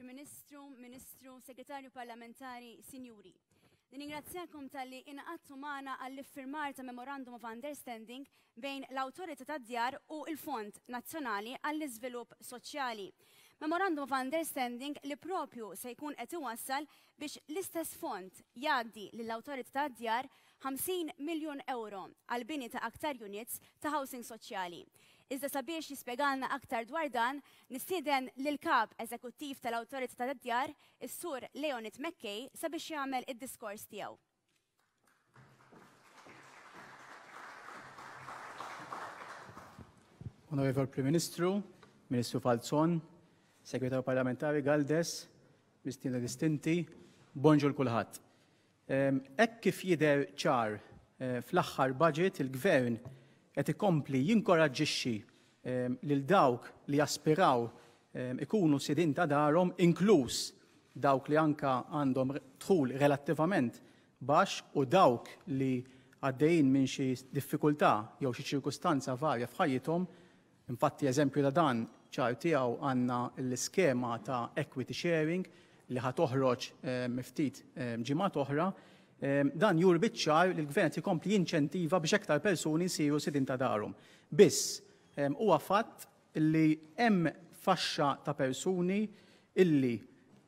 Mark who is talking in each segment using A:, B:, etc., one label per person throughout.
A: Prim Ministru, Ministru, Segretarju Parlamentari, Sinjuri. Nirringrazzjakom talli ingħaqadtu magħna għall-iffirmar ta' Memorandum of Understanding bejn l-Awtorità tad-Djar u l-Fond Nazzjonali għall-Iżvilupp Soċjali. Memorandum of Understanding li propju se jkun qed iwassal biex l-istess fond jgħaddi lill-Awtorità tad-Djar 50 miljun ewro għall-bini ta' aktar units ta' housing soċjali. Iżda sabiex jispjegalna aktar dwar dan, nistieden lill-Kap Eżekuttiv tal-Awtorità tad-Djar, is-Sur Leonid McKay sabiex jagħmel id-diskors tiegħu.
B: Onorevol Prim Ministru, Ministru Falzon, Segretarju Parlamentari Galdes, mistiedna distinti, bonġu 'l kulħadd. Hekk kif jidher ċar fl-aħħar budget il-Gvern qed ikompli jinkoraġġixxi lil dawk li jaspiraw ikunu sidien ta' darhom inkluż dawk li anke għandhom dħul relattivament baxx u dawk li għaddejjin minn xi diffikultà jew xi ċirkustanza varja f'ħajjithom. Infatti eżempju ta' dan ċar tiegħu għandna l-iskema ta' equity sharing li ħa toħroġ ftit ġimgħat oħra. Dan juri biċ-ċar li l-Gvern qed ikompli jinċentiva biex aktar persuni jsiru sidien ta' darhom. Biss, huwa fatt li hemm faxxa ta' persuni illi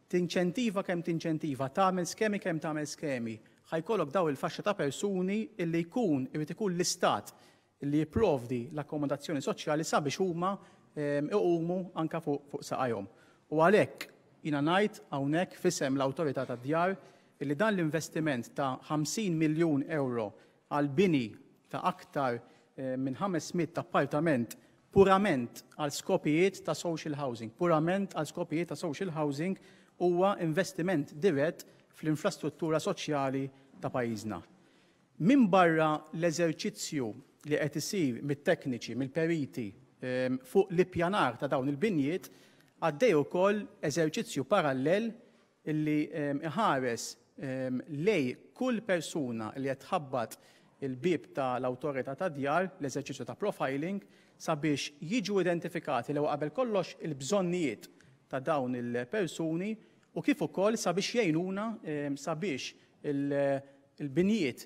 B: tinċentiva kemm tinċentiva, tagħmel skemi kemm tagħmel skemi, ħa jkollok dawn il-faxxa ta' persuni illi jkun irid ikun l-Istat li jipprovdi l-akkomodazzjoni soċjali sabiex huma iqumu anke fuq saqajhom. U għalhekk jiena ngħid hawnhekk f'isem l-Awtorità tad-Djar illi dan l-investiment ta' 50 miljun ewro għall-bini ta' aktar minn 500 appartament purament għal skopijiet ta' social housing, purament għal skopijiet ta' social housing huwa investiment dirett fl-infrastruttura soċjali ta' pajjiżna. Minbarra l-eżerċizzju li qed isir mit-tekniċi, mill-periti fuq l-ippjanar ta' dawn il-binjiet, għaddej ukoll eżerċizzju parallel li iħares lejn kull persuna li qed tħabbat il-bieb ta' l-Awtorità tad-Djar, l-eżerċizzju ta' profiling, sabiex jiġu identifikati l-ewwel qabel kollox il-bżonnijiet ta' dawn il-persuni u kif ukoll sabiex jgħinuna sabiex il-binjiet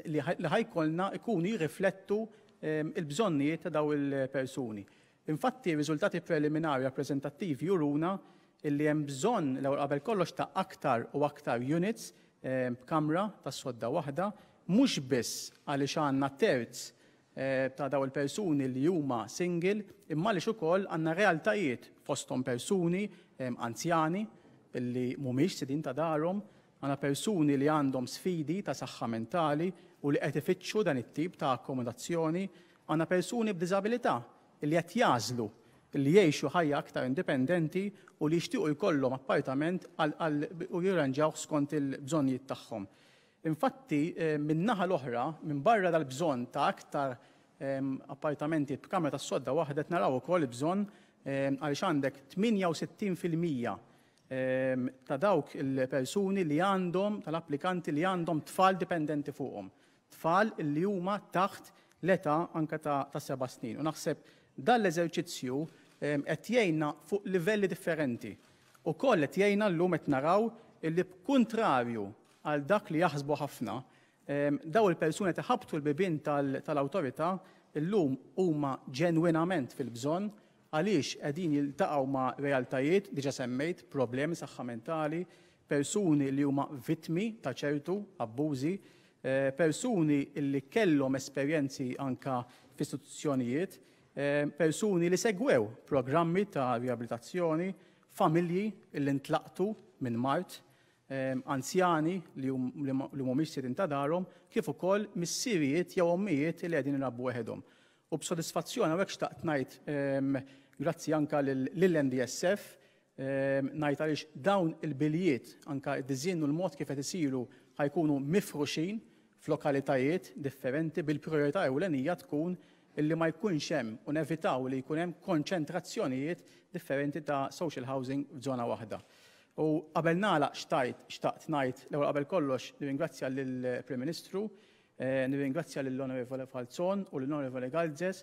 B: li ħa jkollna jkunu jirriflettu l-bżonnijiet ta' dawn il-persuni. Infatti, riżultati preliminari rappreżentattivi juruna li hemm bżonn l-ewwel qabel kollox ta' aktar u aktar units b'kamra tas-sodda waħda, mhux biss għaliex għandna terz ta' dawn il-persuni li huma single, imma għaliex ukoll għandna realtajiet fosthom persuni anzjani li mhumiex sidien ta' darhom, għandna persuni li għandhom sfidi ta' saħħa mentali u li qed ifittxu dan it-tip ta' akkomodazzjoni, għandna persuni b'diżabilità li qed jagħżlu li jgħixu ħajja aktar indipendenti u li jixtiequ jkollhom appartament u jirranġawh skont il-bżonnijiet tagħhom. Infatti, min-naħa l-oħra, minbarra dal-bżonn ta' aktar appartamenti b'kamra tas-sodda waħda qed naraw ukoll il-bżonn għaliex għandek 68% ta' dawk il-persuni li għandhom, tal-applikanti li għandhom tfal dipendenti fuqhom. Tfal li huma taħt l-età anke ta' seba' snin. U naħseb dan l-eżerċizzju qed jgħinna fuq livelli differenti. Ukoll qed jgħinna llum qed naraw illi b'kuntrarju għal dak li jaħsbu ħafna, dawn il-persuni qed iħabbtu l-bibien tal-awtorità llum huma ġenwinament fil-bżonn għaliex qegħdin jiltaqgħu ma' realtajiet, diġà semmejt, problemi saħħa mentali, persuni li huma vittmi ta' ċertu abbużi, persuni li kellhom esperjenzi anke f'istituzzjonijiet, persuni li segwew programmi ta' riabilitazzjoni, familji li ntlaqtu minn mard, anzjani li mhumiex sidien ta' darhom, kif ukoll missirijiet jew ommijiet li qegħdin irabbu weħedhom. U b'sodisfazzjon hawnhekk xtaqt ngħid grazzi anke lill-NDSF, ngħid għaliex dawn il-biljiet anke d-diżinn u l-mod kif qed isiru ħa jkunu mifruxin f'lokalitajiet differenti bil-prijorità ewlenija tkun illi ma jkunx hemm u nevitaw li jkun hemm konċentrazzjonijiet differenti ta' social housing f'żona waħda. U qabel nagħlaq xtajt xtaqt ngħid l-ewwel qabel kollox nirringrazzja lill-Prim Ministru, nirringrazzja lill-Onorevole Falzon u lill-Onorevole Galzes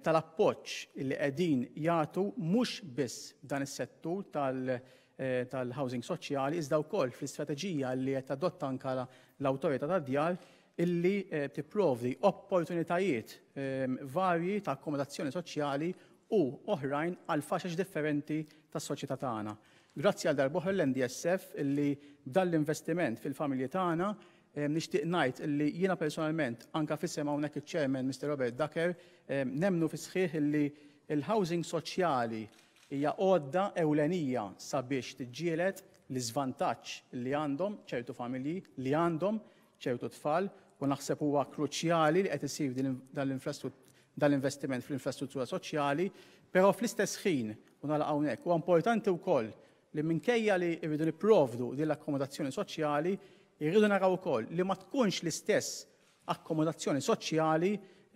B: tal-appoġġ li qegħdin jagħtu mhux biss f'dan is-settur tal tal-housing soċjali iżda wkoll fl-istrateġija li qed tadotta anke l-Awtorità tad-Djar illi tipprovdi opportunitajiet varji ta' akkomodazzjoni soċjali u oħrajn għal faxex differenti tas-soċjetà tagħna. Grazzi għal darb'oħra l-NDSF illi b'dan l-investiment fil-familji tagħna nixtieq ngħid illi jiena personalment anke f'isem hawnhekk iċ-Chairman Mister Robert Ducker nemmnu fis-sħiħ illi l-housing soċjali hija għodda ewlenija sabiex tiġġieled l-iżvantaġġ li għandhom ċertu familji, li għandhom ċertu tfal u naħseb huwa kruċjali li qed isir dan l-investiment fl-infrastruttura soċjali, però fl-istess ħin, u nagħlaq hawnhekk, huwa importanti wkoll li minkejja li rridu nipprovdu din l-akkomodazzjoni soċjali, irridu naraw ukoll li ma tkunx l-istess akkomodazzjoni soċjali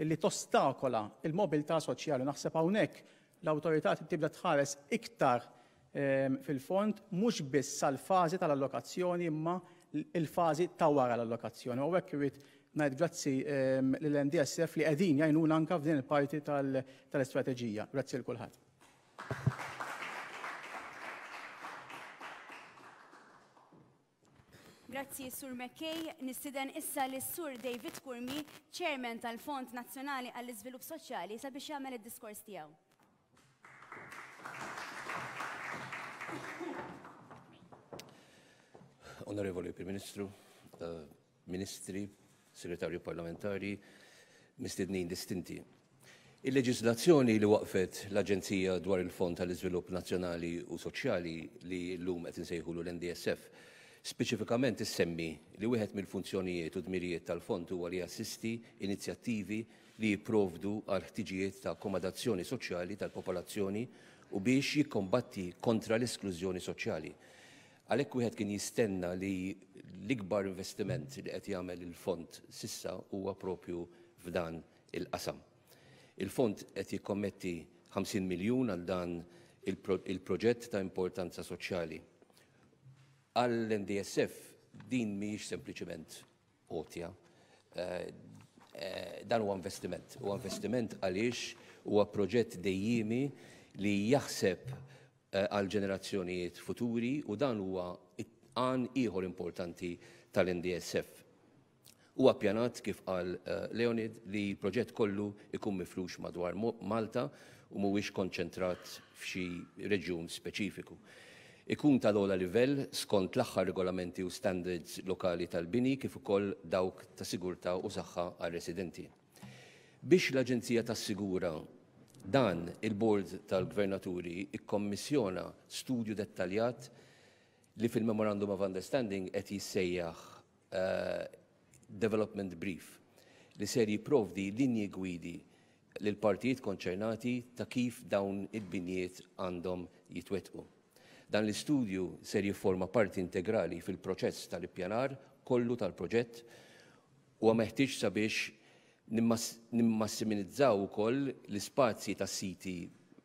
B: li tostakola l-mobilità soċjali. Naħseb hawnhekk l-awtorità trid tibda tħares iktar fil-fond mhux biss sal-fażi tal-allokazzjoni imma l-fażi ta' wara l-allokazzjoni. U hawnhekk irrid ngħid grazzi lill-NDSF li qegħdin jgħinuna anke f'din il-parti tal-istrateġija. Grazzi lil kulħadd.
A: Grazzi Sur McKay, nistieden issa lis-Sur David Curmi, Chairman tal-Fond Nazzjonali għall-Iżvilupp Soċjali sabiex jagħmel id-diskors tiegħu.
C: Onorevoli Prim Ministru, eh, Ministri, Segretarju Parlamentari, mistednin distinti. Il-leġiżlazzjoni li waqqfet l-Aġenzija dwar il-Fond tal-Iżvilupp Nazzjonali u Soċjali li llum qed insejħulu l-NDSF speċifikament issemmi li wieħed mill-funzjonijiet u dmirijiet tal-fond huwa li jassisti inizjattivi li jipprovdu għal ħtiġijiet ta' akkomodazzjoni soċjali tal-popolazzjoni u biex jikkombatti kontra l-esklużjoni soċjali. Għalhekk wieħed kien jistenna li l-ikbar investiment li qed jagħmel il-fond s'issa huwa propju f'dan il-qasam. Il-fond qed jikkommetti 50 miljun għal dan il-proġett ta' importanza soċjali. Għall-NDSF din mhijiex sempliċement għotja. Eh, eh, dan huwa investiment. Huwa investiment għaliex huwa proġett dejjiemi li jaħseb eh, għal ġenerazzjonijiet futuri u dan huwa għan ieħor importanti tal-NDSF. Huwa ppjanat, kif qal Leonid, li l-proġett kollu jkun mifrux madwar Malta u mhuwiex konċentrat f'xi reġjun speċifiku. Ikun tal-ogħla livell skont l-aħħar regolamenti u standards lokali tal-bini kif ukoll dawk ta' sigurtà u saħħa għar-residenti. Biex l-Aġenzija tassigura dan, il-Bord tal-Gvernaturi kkommissjona studju dettaljat li fil-Memorandum of Understanding qed jissejjaħ Development Brief li ser jipprovdi linji gwidi lill-partijiet konċernati ta' kif dawn il-binjiet għandhom jitwettqu. Dan l-istudju ser jifforma parti integrali fil-proċess tal-ippjanar kollu tal-proġett Huwa meħtieġ sabiex nimmassimizzaw ukoll l-ispazji tas-siti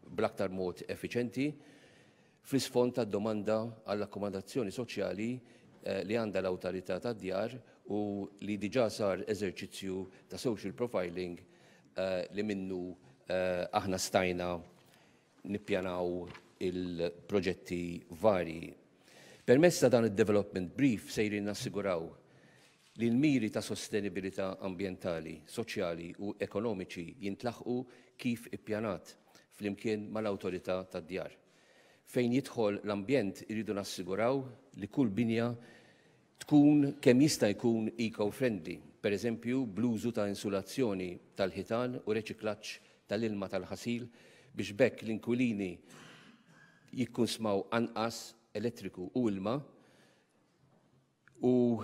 C: bl-aktar mod effiċenti fl-isfond tad-domanda għall-akkomodazzjoni soċjali li għandha l-Awtorità tad-Djar u li diġà sar eżerċizzju ta' social profiling li minnu aħna stajna nippjanaw il-proġetti varji. Permezz ta' dan id-development brief sejrin nassiguraw li l-miri ta' sostenibilità ambjentali, soċjali u ekonomiċi jintlaħqu kif ippjanat flimkien mal-Awtorità tad-Djar. Fejn jidħol l-ambjent irridu nassiguraw li kull binja tkun kemm jista' jkun eco-friendly, pereżempju bl-użu ta' insulazzjoni tal-ħitan u reċiklaġġ tal-ilma tal-ħasil biex b'hekk l-inkwilini jikkunsmaw anqas elettriku u ilma U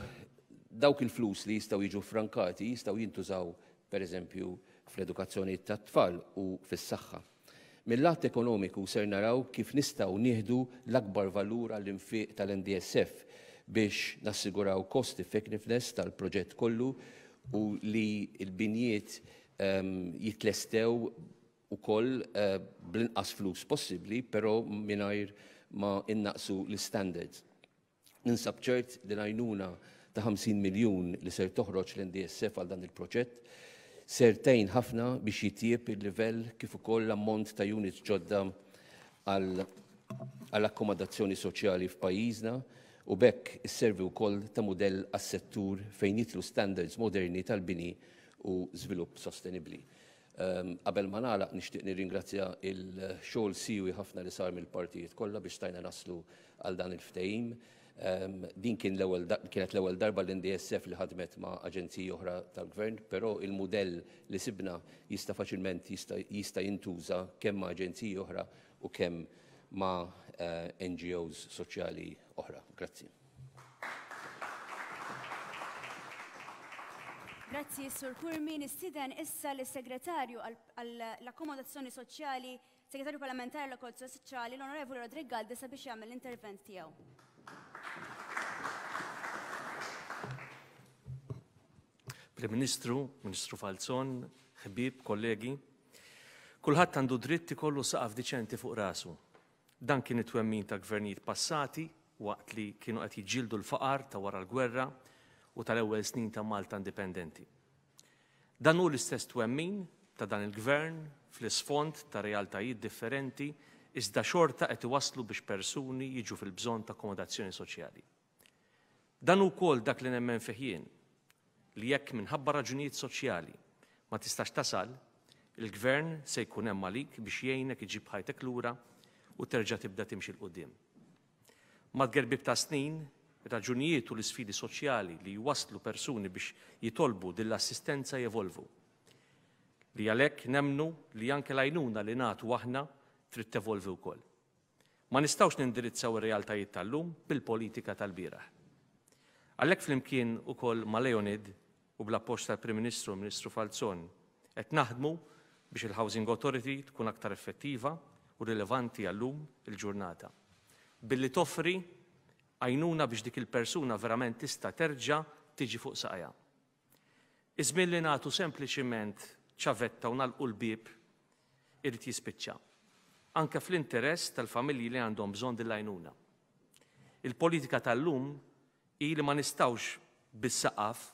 C: dawk il-flus li jistgħu jiġu ffrankati jistgħu jintużaw pereżempju fl-edukazzjoni tat-tfal u fis-saħħa. Mil-lat ekonomiku ser naraw kif nistgħu nieħdu l-akbar valur għall-infiq tal-NDSF biex nassiguraw cost effectiveness tal-proġett kollu u li l-binjiet ehm, jitlestew ukoll eh, bl-inqas flus possibbli, però mingħajr ma innaqsu l-standards. Ninsab ċert li l-għajnuna ta' 50 miljun li ser toħroġ l-NDSF għal dan il-proġett ser tgħin ħafna biex jitjieb il-livell kif ukoll l-ammont ta' units ġodda għal għal akkomodazzjoni soċjali f'pajjiżna u b'hekk isservi wkoll ta' mudell għas-settur fejn jidħlu standards moderni tal-bini u żvilupp sostenibbli. Qabel ma nagħlaq nixtieq nirringrazzja il-xogħol siewi ħafna li sar mill-partijiet kollha biex stajna naslu għal dan il-ftehim. Din kien l-ewwel kienet l-ewwel darba l-NDSF li ħadmet ma' aġenziji oħra tal-gvern, però il-mudell li sibna jista' faċilment jista' jintuża kemm ma' aġenziji oħra u kemm ma' NGOs soċjali oħra. Grazzi.
A: Grazzi, Sur Curmi. Nistieden issa lis-Segretarju għall-Akkomodazzjoni Soċjali, Segretarju Parlamentari għall-Akkomodazzjoni Soċjali, l-Onorevoli Roderick Galdes sabiex jagħmel l-intervent tiegħu.
D: Prim Ministru, Ministru Falzon, ħbieb, kollegi, kulħadd għandu dritt ikollu saqaf diċenti fuq rasu. Dan kien it-twemmin ta' gvernijiet passati waqt li kienu qed jiġġieldu l-faqar ta' wara l-gwerra u tal-ewwel snin ta' Malta indipendenti. Dan hu l-istess twemmin ta' dan il-Gvern fl-isfond ta' realtajiet differenti iżda xorta qed iwasslu biex persuni jiġu fil-bżonn ta' akkomodazzjoni soċjali. Dan hu wkoll dak li nemmen fih jien, li jekk minħabba raġunijiet soċjali ma tistax tasal, il-Gvern se jkun hemm għalik biex jgħinek iġġib ħajtek lura u terġa' tibda timxi 'l quddiem. Mat-tgerbib tas-snin, ir-raġunijiet u l-isfidi soċjali li jwasslu persuni biex jitolbu din l-assistenza jevolvu. Li għalhekk nemmnu li anke l-għajnuna li nagħtu aħna trid tevolvi wkoll. Ma nistgħux nindirizzaw ir-realtajiet tal-lum bil-politika tal-bieraħ. Għalhekk flimkien ukoll ma' Leonid u bl-appoġġ tal-Prim Ministru u l-Ministru Falzon qed naħdmu biex il-Housing Authority tkun aktar effettiva u rilevanti għal-lum il-ġurnata billi toffri għajnuna biex dik il-persuna verament tista' terġa' tiġi fuq saqajha. Iż-żmien li nagħtu sempliċiment ċavetta u nagħlqu l-bieb irid jispiċċa, anke fl-interess tal-familji li għandhom bżonn din l-għajnuna. Il-politika tal-lum hi li ma nistgħux bis-saqaf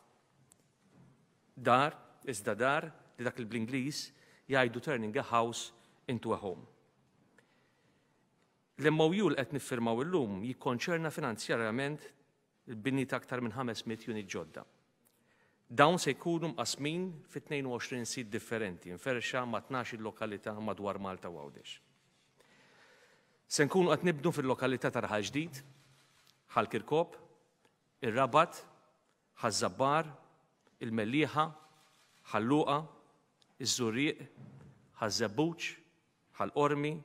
D: dar, iżda dar li dak li bl-Ingliż jgħidu turning a house into a home. L-MOU li qed niffirmaw illum jikkonċerna finanzjarjament il-bini ta' aktar minn 500 unit ġodda. Dawn se jkunu mqassmin fi 22 sit differenti mferrxa ma' 12-il lokalità madwar Malta u Għawdex. Se nkunu qed nibnu fil-lokalità ta' Raħal Ġdid, Ħal Kirkop, ir-Rabat, Ħaż-Żabbar, il-Mellieħa, Ħal Luqa, iż-Żurrieq, Ħaż-Żebbuġ, Ħal Qormi,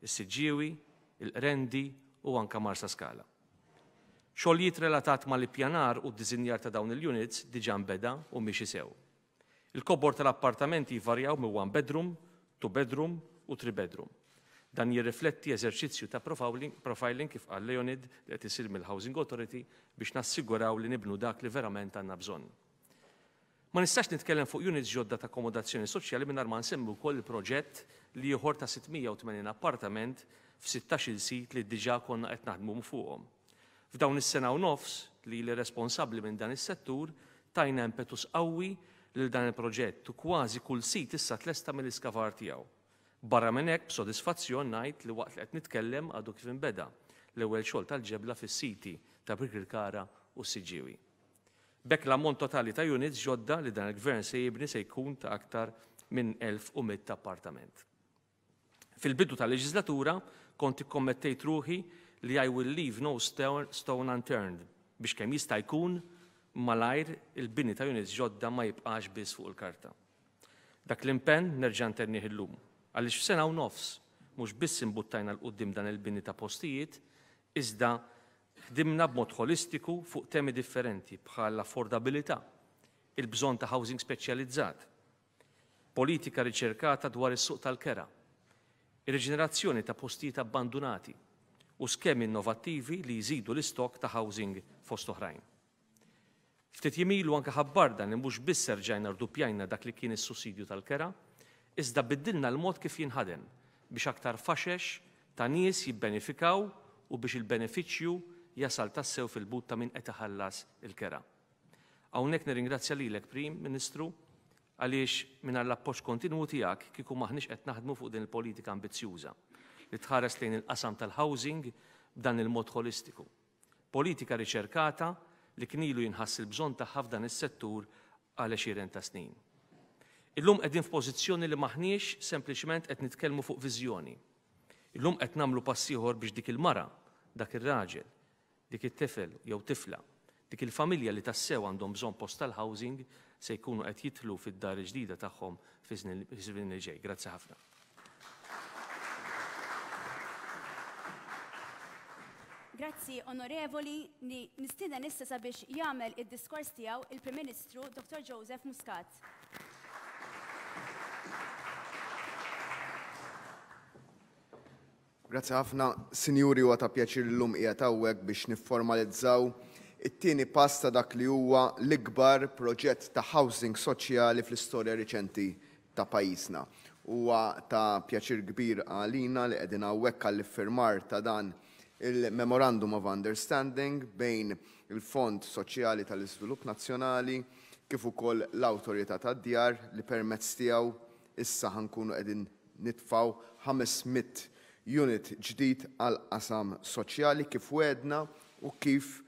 D: is-Siġġiewi, il-Qrendi u anke Marsaskala. Xogħlijiet relatat mal-ippjanar u d-diżinjar ta' dawn il-units diġà nbeda u miexi sew. Il-kobor tal-appartamenti jvarjaw minn one bedroom, two bedroom u three bedroom. Dan jirrifletti eżerċizzju ta' profiling kif qal Leonid li qed isir mill-Housing Authority biex nassiguraw li nibnu dak li verament għandna bżonn. Ma nistax nitkellem fuq units ġodda ta' akkomodazzjoni soċjali mingħajr ma nsemmi wkoll il-proġett l-ieħor ta' 680 appartament f'sittax-il sit li diġà konna qed naħdmu fuqhom. F'dawn is-sena u nofs li ili responsabbli minn dan is-settur tajna impetus qawwi lil dan il-proġett u kważi kull sit issa tlesta mill-iskavar tiegħu. Barra minn hekk b'sodisfazzjon ngħid li waqt li qed nitkellem għadu kif inbeda l-ewwel xogħol tal-ġebla fis-siti ta' Birkirkara u s-Siġġiewi. B'hekk l-ammont totali ta' units ġodda li dan il-Gvern se jibni se jkun ta' aktar minn 1,100 appartament. Fil-bidu tal-leġiżlatura kont ikkommettejt ruħi li I will leave no stone unturned biex kemm jista' jkun malajr il-bini ta' units ġodda ma jibqax biss fuq il-karta. Dak l-impenn nerġa' ntennih illum, għaliex f'sena u nofs mhux biss imbuttajna 'l quddiem dan il-bini ta' postijiet, iżda Ħdimna b'mod ħolistiku fuq temi differenti bħall-affordabilità, il-bżonn ta' housing speċjalizzat, politika riċerkata dwar is-suq tal-kera, ir-riġenerazzjoni ta' postijiet abbandunati u skemi innovattivi li jżidu l-istokk ta' housing fost oħrajn. Ftit jiem ilu anke ħabbarna li mhux biss erġajna rduppjajna dak li kien is-sussidju tal-kera, iżda biddilna l-mod kif jinħadem biex aktar faxex ta' nies jibbenefikaw u biex il-benefiċċju jasal tassew fil-but ta' min qed iħallas il-kera. Hawnhekk nirringrazzja lilek Prim Ministru għaliex mingħajr l-appoġġ kontinwu tiegħek kieku m'aħniex qed naħdmu fuq din il-politika ambizzjuża. li tħares lejn il-qasam tal-housing b'dan il-mod ħolistiku. Politika riċerkata li kien ilu jinħass il-bżonn tagħha f'dan is-settur għal għexieren ta' snin. Illum qegħdin f'pożizzjoni li m'aħniex sempliċement qed nitkellmu fuq viżjoni. Illum qed nagħmlu pass ieħor biex dik il-mara, dak ir-raġel, dik it-tifel jew tifla, dik il-familja li tassew għandhom bżonn post tal-housing se jkunu qed jidħlu fid-dar il-ġdida tagħhom fiż-żmien li ġej. Grazzi ħafna.
A: Grazzi Onorevoli, nistieden issa sabiex jagħmel id-diskors tiegħu il-Prim Ministru Dr. Joseph Muscat.
E: Grazzi ħafna, Sinjuri huwa ta' pjaċir llum qiegħed hawnhekk biex nifformalizzaw it-tieni pass ta' dak li huwa l-ikbar proġett ta' housing soċjali fl-istorja riċenti ta' pajjiżna. Huwa ta' pjaċir kbir għalina li qegħdin hawnhekk għall-iffirmar ta' dan il-Memorandum of Understanding bejn il-Fond Soċjali tal-Iżvilupp Nazzjonali kif ukoll l-Awtorità tad-Djar li permezz tiegħu issa ħa nkunu qegħdin nitfgħu 500 unit ġdid għall-qasam soċjali kif wegħdna u kif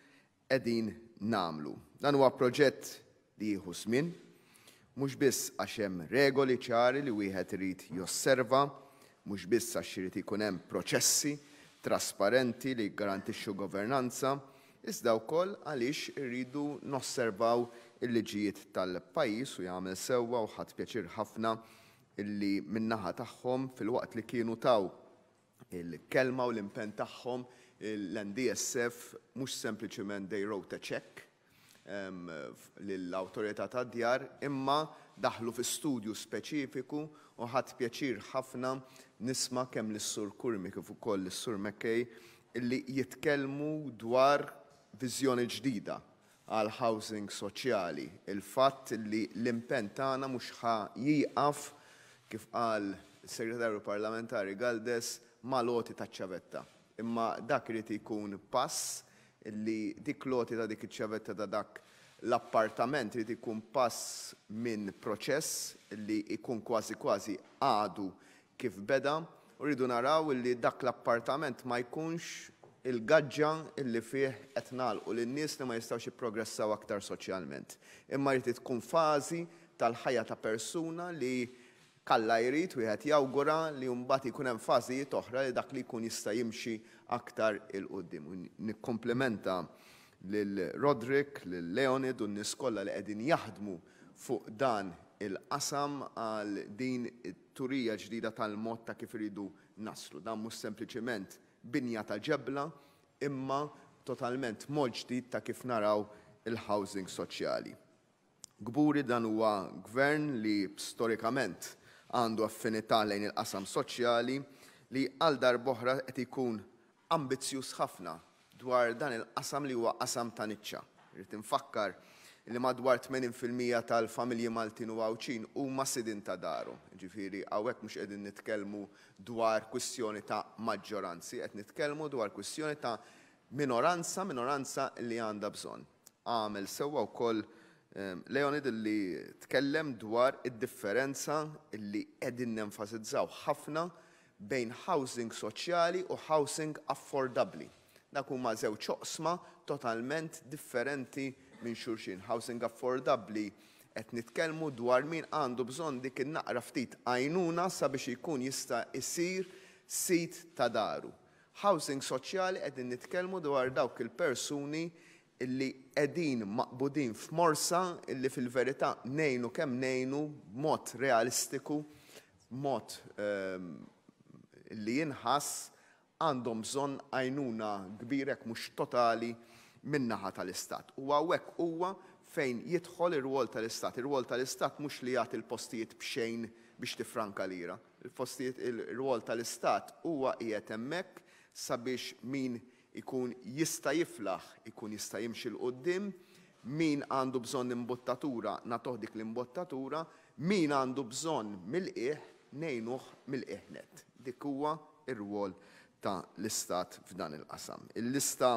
E: qegħdin nagħmlu. Dan huwa proġett li jieħu żmien, mhux biss għax hemm regoli ċari li wieħed irid josserva, mhux biss għax irid ikun hemm proċessi trasparenti li jiggarantixxu governanza, iżda wkoll għaliex irridu nosservaw il-liġijiet tal-pajjiż u jagħmel sewwa u ħadt pjaċir ħafna illi min-naħa tagħhom filwaqt li kienu taw il-kelma u l-impenn tagħhom l-NDSF mhux sempliċement they wrote a cheque lill-Awtorità tad-Djar imma daħlu fi studju speċifiku u ħadt pjaċir ħafna nisma' kemm lis-Sur Curmi kif ukoll lis-Sur McKay illi jitkellmu dwar viżjoni ġdida għall-housing soċjali, il-fatt li l-impenn tagħna mhux ħa jieqaf, kif qal is-Segretarju Parlamentari Galdes, mal-għoti taċ-ċavetta. Imma dak irid ikun pass li dik l-għoti ta' dik iċ-ċavetta ta' dak l-appartament irid ikun pass minn proċess li jkun kważi kważi għadu kif beda u rridu naraw illi dak l-appartament ma jkunx il-gaġġa illi fih qed nagħlqu lin-nies li ma jistgħux jipprogressaw aktar soċjalment. Imma jrid tkun fażi tal-ħajja ta' persuna li kalla jrid wieħed jawgura li mbagħad jkun hemm fażijiet oħra li dak li jkun jista' jimxi aktar 'il quddiem. U nikkumplimenta lil Roderick, lil Leonid u n-nies kollha li qegħdin jaħdmu fuq dan il-qasam għal din turija ġdida tal-mod ta' kif iridu naslu. Dan mhux sempliċiment binja ta' ġebla imma totalment mod ġdid ta' kif naraw il-housing soċjali. Kburi dan huwa gvern li storikament għandu affinità lejn il-qasam soċjali li għal darb'oħra qed ikun ambizzjuż ħafna dwar dan il-qasam li huwa qasam ta' niċċa. Irrid infakkar li madwar 80% tal-familji Maltin u Għawdxin huma sidien ta' darhom. Jiġifieri hawnhekk mhux qegħdin nitkellmu dwar kwistjoni ta' maġġoranzi, qed nitkellmu dwar kwistjoni ta' minoranza, minoranza li għandha bżonn. Għamel sewwa wkoll Leonid li tkellem dwar id-differenza li qegħdin nenfasizzaw ħafna bejn housing soċjali u housing affordabbli. Dak huma żewġ oqsma totalment differenti minn xulxin. Housing affordabbli qed nitkellmu dwar min għandu bżonn dik in-naqra ftit għajnuna sabiex ikun jista' jsir sid ta' daru. Housing soċjali qegħdin nitkellmu dwar dawk il-persuni illi qegħdin maqbudin f'morsa illi fil-verità ngħinu kemm ngħinu b'mod realistiku, b'mod li jinħass għandhom bżonn għajnuna kbira jekk mhux totali min-naħa tal-Istat. U hawnhekk huwa fejn jidħol ir-rwol tal-Istat. Ir-rwol tal-Istat mhux li jagħti l-postijiet b'xejn biex tiffranka lira. Il-postijiet ir-rwol tal-Istat huwa qiegħed hemmhekk sabiex min ikun jista' jiflaħ, ikun jista' jimxi 'l quddiem, min għandu bżonn imbottatura nagħtuh dik l-imbottatura, min għandu bżonn mill-qiegħ ngħinuh mill-qiegħ nett. Dik huwa r-rwol ta' l-Istat f'dan il-qasam. Il-lista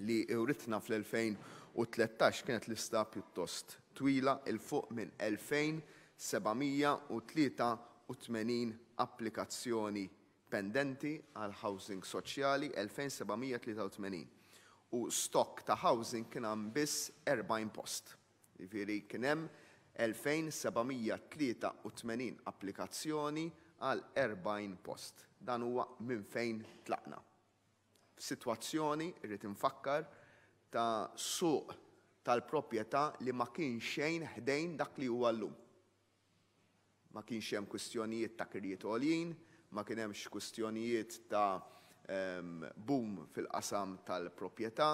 E: li writna fl-2013 kienet lista pjuttost twila, 'il fuq minn 2,783 applikazzjoni. pendenti għal housing soċjali, 2,783. U stock ta' housing kien hemm biss 40 post. Jiġifieri kien hemm 2,783 applikazzjoni għal 40 post. Dan huwa minn fejn tlaqna. F'sitwazzjoni, irrid infakkar, ta' suq tal-proprjetà li ma kien xejn ħdejn dak li huwa llum. Ma kienx hemm kwistjonijiet ta' kirjiet għoljin, ma kien hemmx kwistjonijiet ta' boom fil-qasam tal-proprjetà,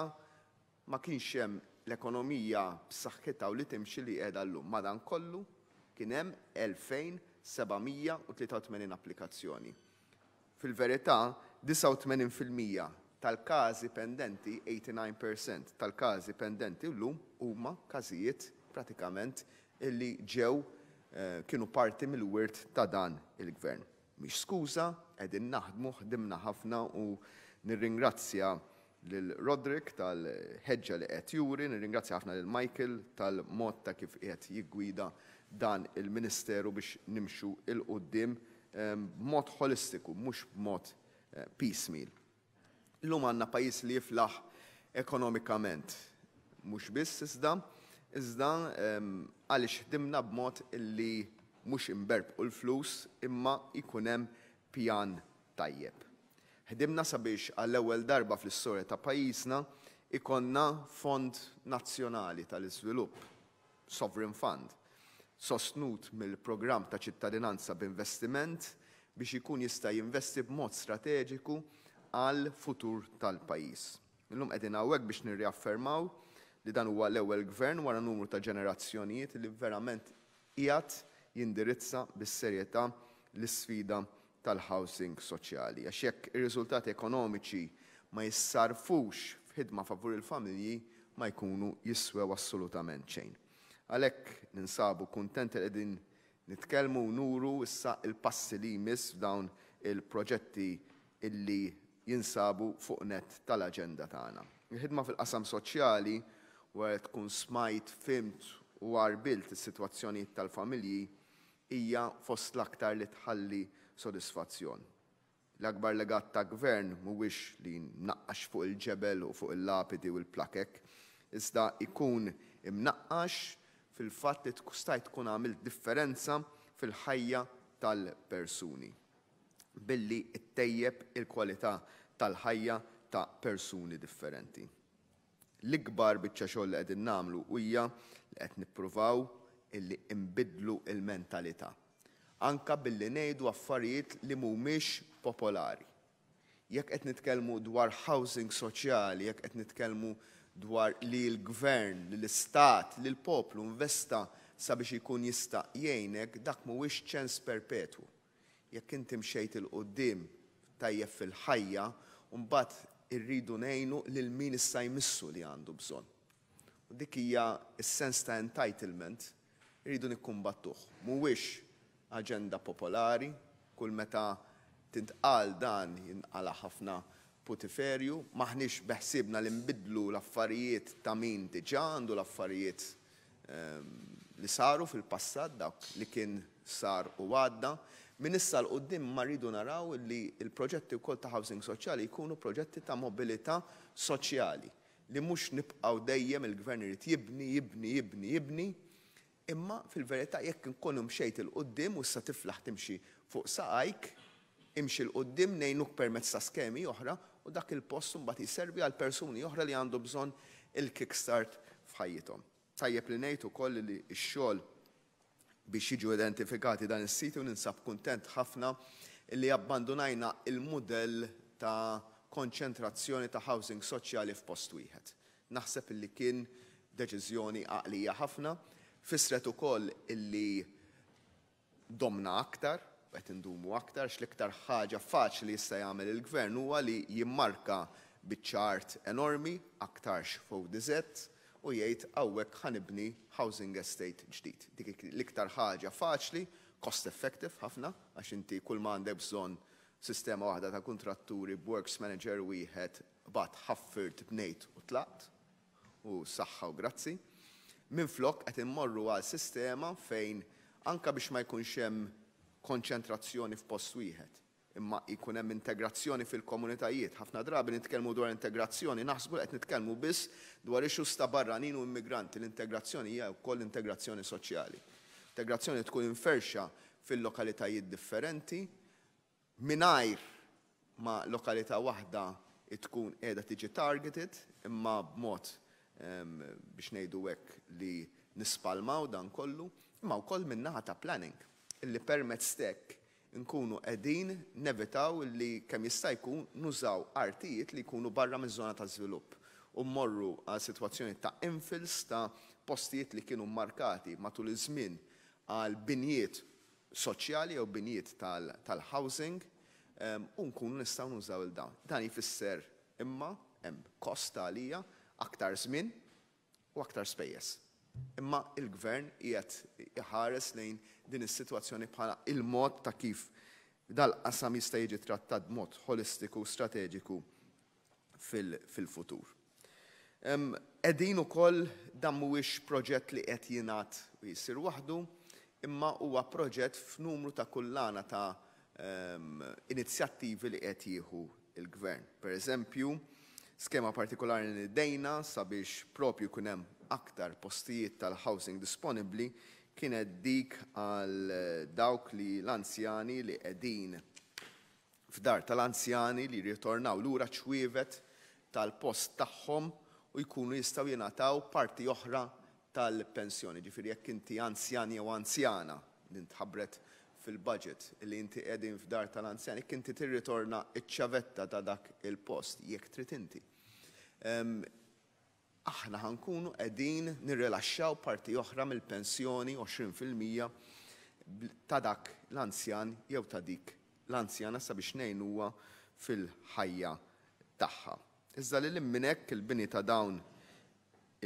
E: ma kienx hemm l-ekonomija b'saħħitha u li timxi li qiegħda llum. Madankollu kien hemm 2,783 applikazzjoni. Fil-verità, 89% tal-każi pendenti, 89% tal-każi pendenti llum huma każijiet pratikament illi ġew kienu parti mill-wirt ta' dan il-Gvern. Mhix skuża, qegħdin naħdmu, ħdimna ħafna u nirringrazzja lil Roderick tal-ħeġġa li qed juri, nirringrazzja ħafna lil Michael tal-mod ta' kif qiegħed jiggwida dan il-Ministeru biex nimxu 'l quddiem b'mod ħolistiku, mhux b'mod piecemeal. Illum għandna pajjiż li jiflaħ ekonomikament, mhux biss iżda, iżda għaliex ħdimna b'mod illi mhux inberbqu l-flus imma jkun hemm pjan tajjeb. Ħdimna sabiex għall-ewwel darba fl-istorja ta' pajjiżna ikollna fond nazzjonali tal-iżvilupp, sovereign fund, sostnut mill-programm ta' ċittadinanza b'investiment biex ikun jista' jinvesti b'mod strateġiku għall-futur tal-pajjiż. Illum qegħdin hawnhekk biex nirriaffermaw li dan huwa l-ewwel gvern wara numru ta' ġenerazzjonijiet li verament qiegħed jindirizza bis-serjetà l-isfida tal-housing soċjali. Għax jekk ir-riżultati ekonomiċi ma jissarfux f'ħidma favur il-familji, ma jkunu jiswew assolutament xejn. Għalhekk ninsabu kuntenti li qegħdin nitkellmu u nuru issa l-passi li jmiss f'dawn il-proġetti illi jinsabu fuq nett tal-aġenda tagħna. Il-ħidma fil-qasam soċjali, wara li tkun smajt, fhimt u għarbilt is-sitwazzjonijiet tal-familji, hija fost l-aktar li tħalli sodisfazzjon. L-akbar legat ta' gvern mhuwiex li jnaqqax fuq il-ġebel u fuq il-lapidi u l-plakek, iżda jkun imnaqqax fil-fatt li stajt tkun għamilt differenza fil-ħajja tal-persuni billi ttejjeb il-kwalità tal-ħajja ta' persuni differenti. L-ikbar biċċa xogħol li qegħdin nagħmlu hija li qed nippruvaw illi nbiddlu l-mentalità. Anke billi ngħidu affarijiet li mhumiex popolari. Jekk qed nitkellmu dwar housing soċjali, jekk qed nitkellmu dwar li l-gvern, li l-istat, li l-poplu investa sabiex ikun jista' jgħinek, dak mhuwiex ċens perpetwu. Jekk inti mxejt 'il quddiem tajjeb fil-ħajja, mbagħad irridu ngħinu lil min issa jmissu li għandu bżonn. U dik hija s-sens ta' entitlement irridu nikkumbattuh. Mhuwiex aġenda popolari, kull meta tintqal dan jinqala' ħafna putiferju, m'aħniex beħsiebna li nbiddlu l-affarijiet ta' min diġà għandu l-affarijiet li saru fil-passat, dak li kien sar u għadda. Minn issa 'l quddiem ma rridu naraw li l-proġetti wkoll ta' housing soċjali jkunu proġetti ta' mobilità soċjali, li mhux nibqgħu dejjem il-gvern irid jibni, jibni, jibni, jibni, imma fil-verità jekk inkun imxejt 'il quddiem u issa tiflaħ timxi fuq saqajk, imxi 'l quddiem ngħinuk permezz ta' skemi oħra u dak il-post imbagħad jservi għal persuni oħra li għandu bżonn il-kickstart f'ħajjithom. Tajjeb li ngħid ukoll li x-xogħol biex jiġu identifikati dan is-siti u ninsab kuntent ħafna li abbandunajna il-mudell ta' konċentrazzjoni ta' housing soċjali f'post wieħed. Naħseb li kien deċiżjoni għaqlija ħafna, fissret ukoll illi domna aktar, qed indumu aktar, x'l-iktar ħaġa faċli jista' jagħmel il-gvern huwa li jimmarka biċċa art enormi, aktarx f'ODZ, u jgħid hawnhekk ħa nibni housing estate ġdid. Dik l-iktar ħaġa faċli, cost effective ħafna, għax inti kull ma għandek bżonn sistema waħda ta' kontratturi b'works manager wieħed bat ħaffirt bnejt u tlaqt u saħħa u grazzi. Minflok qed immorru għal sistema fejn anka biex ma jkunx hemm konċentrazzjoni f'post wieħed. imma jkun hemm integrazzjoni fil-komunitajiet. Ħafna drabi nitkellmu dwar integrazzjoni, naħsbu li qed nitkellmu biss dwar issues ta' barranin u immigranti. L-integrazzjoni hija wkoll integrazzjoni soċjali. Integrazzjoni tkun inferxa fil-lokalitajiet differenti mingħajr ma lokalità waħda tkun qiegħda tiġi targeted, imma b'mod biex ngħidu hekk li nispalmaw dan kollu, imma wkoll min-naħa ta' planning, illi permezz t'hekk nkunu qegħdin nevitaw li kemm jista' jkun nużaw artijiet li jkunu barra miż-żona ta' żvilupp u mmorru għal sitwazzjoni ta' infills ta' postijiet li kienu mmarkati matul iż-żmien għal binjiet soċjali jew binjiet tal-housing u nkunu nistgħu nużaw 'il dawn. Dan jfisser imma hemm kost għalija, aktar żmien u aktar spejjeż. Imma il-Gvern qiegħed iħares lejn din is-sitwazzjoni bħala il-mod ta' kif dal-qasam jista' jiġi trattat b'mod ħolistiku u strateġiku fil-futur. Qegħdin ukoll, dan mhuwiex proġett li qed jingħad u jsir waħdu, imma huwa proġett f'numru ta' kullana ta' inizjattivi li qed jieħu l-Gvern. Per eżempju, skema partikolari li nidejna sabiex propju jkun hemm aktar postijiet tal-housing disponibbli kienet dik għal dawk li l-anzjani li qegħdin f'dar tal-anzjani li jirritornaw lura ċwievet tal-post tagħhom u jkunu jistgħu jingħataw parti oħra tal-pensjoni. Ġifieri jekk inti anzjan jew anzjana, din tħabbret fil-budget, li inti qegħdin f'dar tal-anzjani, jekk inti tirritorna ċ-ċavetta ta' dak il-post, jekk trid inti, aħna ħa nkunu qegħdin nirrilaxxaw parti oħra mill-pensjoni, 20%, ta' dak l-anzjan jew ta' dik l-anzjana sabiex ngħinuha fil-ħajja tagħha. Iżda lil hinn minn hekk, il-bini ta' dawn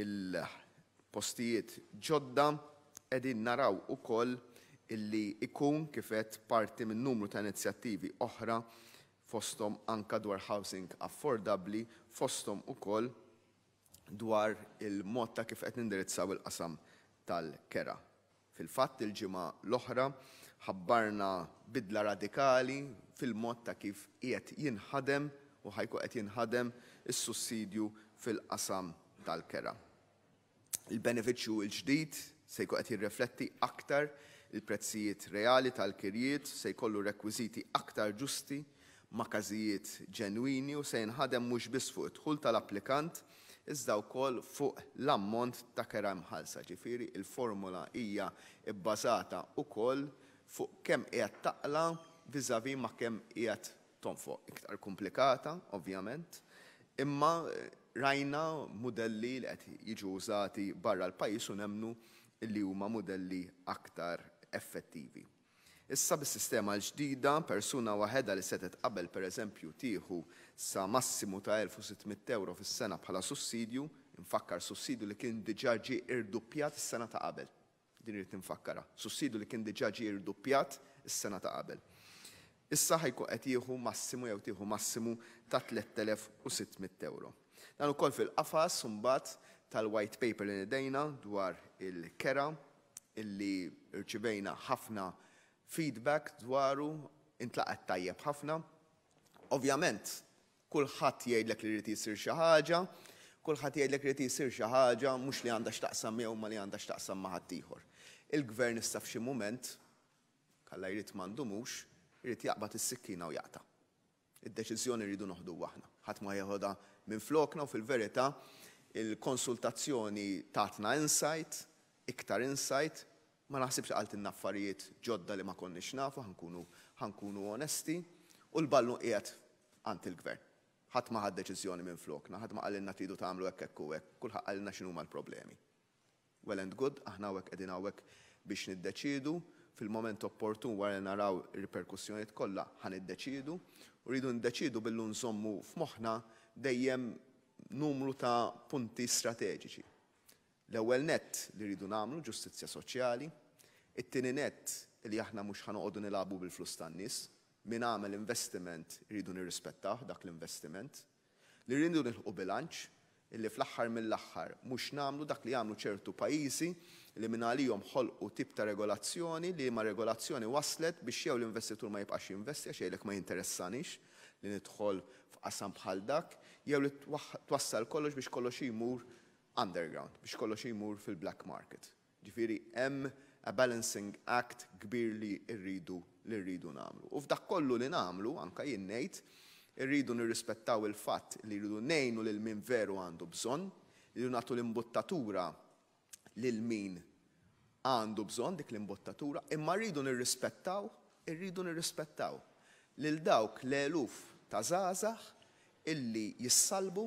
E: il-postijiet ġodda qegħdin naraw ukoll illi ikun kif għedt parti minn numru ta' inizjattivi oħra, fosthom anka dwar housing affordabbli, fosthom ukoll dwar il-mod ta' kif qed nindirizzaw il-qasam tal-kera. Fil-fatt, il-ġimgħa l-oħra ħabbarna bidla radikali fil-mod ta' kif qiegħed jinħadem u ħa jkun qed jinħadem is-sussidju fil-qasam tal-kera. Il-benefiċċju l-ġdid se jkun qed jirrifletti aktar il-prezzijiet reali tal-kirjiet, se jkollu rekwiżiti aktar ġusti ma' każijiet ġenwini u se jinħadem mhux biss fuq id-dħul tal-applikant iżda wkoll fuq l-ammont ta' kera imħallsa, ġifieri il-formula hija bbażata wkoll fuq kemm qiegħed taqla' vis-à-vis ma' kemm qiegħed tonfoq. Iktar komplikata, ovvjament, imma rajna mudelli li qed jiġu użati barra l-pajjiż u nemmnu li huma mudelli aktar effettivi. Issa bis-sistema l-ġdida, persuna waħedha li setgħet qabel pereżempju tieħu sa massimu ta' 1,600 ewro fis-sena bħala sussidju, infakkar sussidju li kien diġà ġie irduppjat is-sena ta' qabel. Din irrid infakkarha. Sussidju li kien diġà ġie irduppjat is-sena ta' qabel. Issa ħa jkun qed jieħu massimu jew tieħu massimu ta' 3,600 ewro. Dan ukoll fil-qafas imbagħad tal-white paper li nidejna dwar il-kera, illi rċivejna ħafna feedback dwaru, intlaqgħet tajjeb ħafna. Ovvjament, kulħadd jgħidlek li jrid jsir xi ħaġa, kulħadd jgħidlek li jrid jsir xi ħaġa mhux li għandha x'taqsam miegħu ma li għandha x'taqsam ma' ħaddieħor. Il-gvern issa f'xi mument, kalla jrid m'għandumux, irid jaqbad is-sikkina u jaqta'. Id-deċiżjoni rridu noħduha aħna. Ħadd ma jeħodha minn flokna u fil-verità il-konsultazzjoni tatna insight, iktar insight, ma naħsibx qaltilna affarijiet ġodda li ma konniex nafu, ħa nkunu onesti, u l-ballu qiegħed għand il-gvern. Ħadd ma ħad deċiżjoni minn flokna, ħadd ma qalilna tridu tagħmlu hekk, hekk u hekk, kulħadd qalilna x'inhuma l-problemi. Well and good, aħna hawnhekk qegħdin hawnhekk biex niddeċiedu fil-moment opportun wara li naraw ir-riperkussjonijiet kollha ħa niddeċiedu, u rridu niddeċiedu billu nżommu f'moħħna dejjem numru ta' punti strateġiċi. L-ewwel nett li rridu nagħmlu ġustizzja soċjali, it-tieni nett li aħna mhux ħa noqogħdu nilagħbu bil-flus tan-nies, min għamel investiment rridu nirrispettaw dak l-investiment, li rridu nilħqu bilanċ. Illi fl-aħħar mill-aħħar mhux nagħmlu dak li għamlu ċertu pajjiżi li mingħalihom ħolqu tip ta' regolazzjoni liema regolazzjoni wasslet biex jew l-investitur ma jibqax jinvesti għax jgħidlek ma jinteressanix li nidħol f'qasam bħal dak jew li twassal kollox biex kollox jmur underground, biex kollox jmur fil-black market. Ġifieri hemm a balancing act kbir li rridu li rridu nagħmlu. U f'dak kollu li nagħmlu, anke jien ngħid, irridu nirrispettaw il-fatt li rridu ngħinu lil min veru għandu bżonn, irridu nagħtu l-imbuttatura lil min għandu bżonn dik l-imbuttatura, imma rridu nirrispettaw, irridu nirrispettaw lil dawk l-eluf ta' żgħażagħ illi jissallbu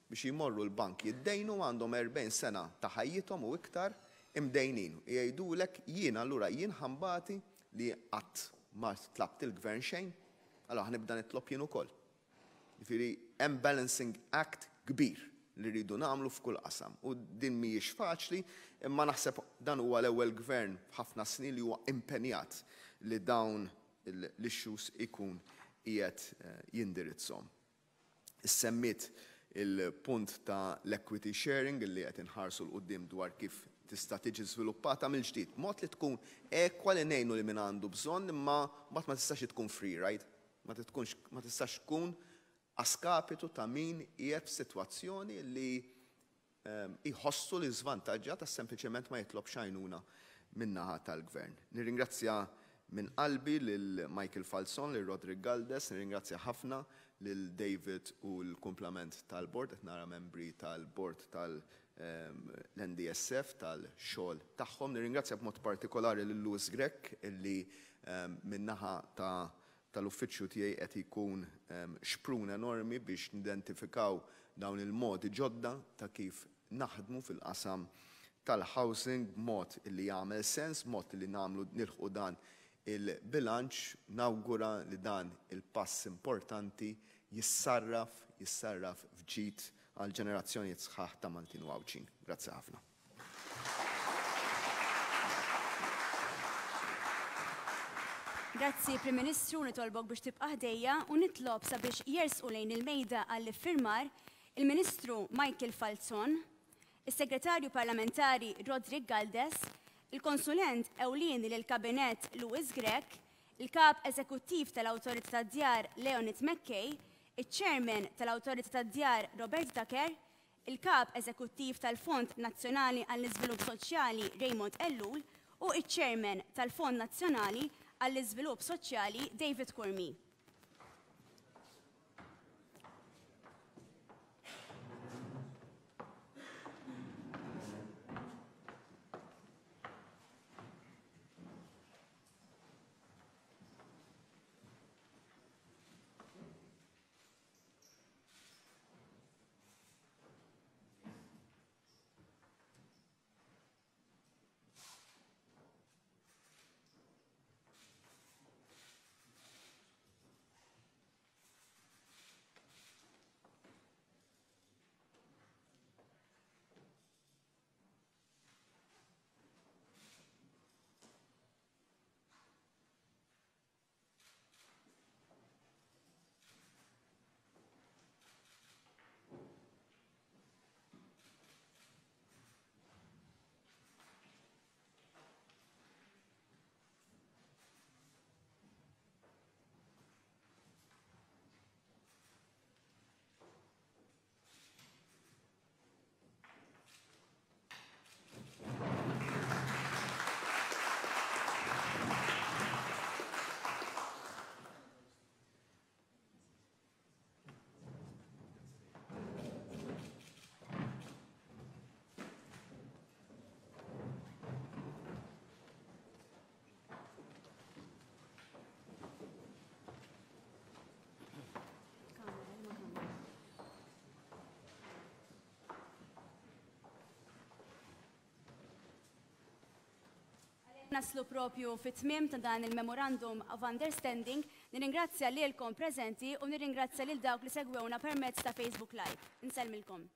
E: biex jmorru l-bank jiddejnu għandhom 40 sena ta' ħajjithom u iktar imdejnin u jgħidulek jien allura jien ħa nbati li qatt ma tlabt il-gvern xejn, allura ħa nibda nitlob jien ukoll. Jiġifieri hemm balancing act kbir li rridu nagħmlu f'kull qasam u din mhijiex faċli imma naħseb dan huwa l-ewwel gvern f'ħafna snin li huwa impenjat li dawn l-issues ikun qiegħed jindirizzhom. Issemmiet il-punt ta' l-equity sharing li qed inħarsu 'l quddiem dwar kif tista' tiġi żviluppata mill-ġdid b'mod li tkun ekwa li ngħinu lil min għandu bżonn imma mbagħad ma tistax tkun free ride, ma tkunx ma tistax tkun a skapitu ta' min qiegħed f'sitwazzjoni li jħossu li żvantaġġjat għax sempliċement ma jitlobx għajnuna min-naħa tal-Gvern. Nirringrazzja minn qalbi lil Michael Falzon, lil Roderick Galdes, nirringrazzja ħafna lil David u l-kumplament tal-bord, qed nara membri tal-bord tal-NDSF tal-xogħol tagħhom. Nirringrazzja b'mod partikolari lil Louis Grech illi min-naħa ta' tal-uffiċċju tiegħi qed jkun xprun enormi biex nidentifikaw dawn il-modi ġodda ta' kif naħdmu fil-qasam tal-housing b'mod li jagħmel sens, b'mod li nagħmlu nilħqu dan il-bilanċ. Nawgura li dan il-pass importanti jissarraf jissarraf f'ġid għal ġenerazzjonijiet sħaħ ta' Maltin u Għawdxin. Grazzi ħafna.
A: Grazzi Prim Ministru, nitolbok biex tibqa' ħdejja u nitlob sabiex jersqu lejn il-mejda għall-iffirmar il-Ministru Michael Falzon, is-Segretarju Parlamentari Roderick Galdes, il-Konsulent Ewlieni lill-Kabinett Louis Grech, il-Kap Eżekuttiv tal-Awtorità tad-Djar Leonid McKay, iċ-Chairman tal-Awtorità tad-Djar Robert Ducker, il-Kap Eżekuttiv tal-Fond Nazzjonali għall-Iżvilupp Soċjali Raymond Ellul u ċ-Chairman tal-Fond Nazzjonali għall-Iżvilupp Soċjali David Curmi. Naslu propju fit-tmiem ta' dan il-Memorandum of Understanding, nirringrazzja lilkom preżenti u nirringrazzja lil dawk li segwewna permezz ta' Facebook Live. Insellmilkom.